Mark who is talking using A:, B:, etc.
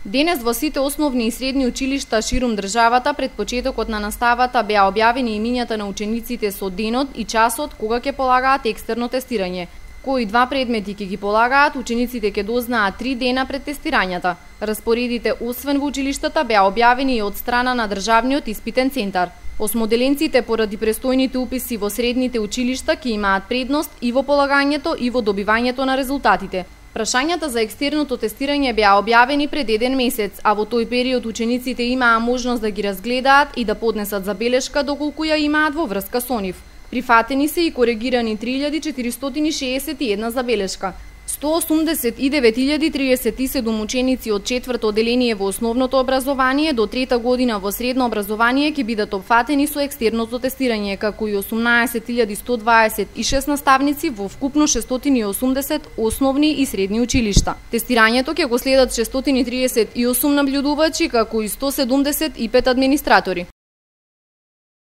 A: Денес во сите основни и средни училишта ширум државата пред почетокот на наставата беа објавени имињата на учениците со денот и часот кога ќе полагаат екстерно тестирање. Кои два предмети ќе ги полагаат, учениците ќе дознаат 3 дена пред тестирањата. Распоредите освен во училиштата беа објавени и од страна на државниот испитен центар. Осмоделенците поради престојните уписи во средните училишта ќе имаат предност и во полагањето и во добивањето на резултатите. Прашањата за екстерното тестирање беа објавени пред 1 месец, а во тој период учениците имаа можност да ги разгледаат и да поднесат забелешка доколку ја имаат во врска со нив. Прифатени се и коригирани 3461 забелешка. 189.037 ученици од 4-то одделение во основното образование до 3-та година во средно образование ќе бидат опфатени со екстерното тестирање, како и 18.126 наставници во вкупно 680 основни и средни училишта. Тестирањето ќе го следат 638 наблюдувачи, како и 175 администратори.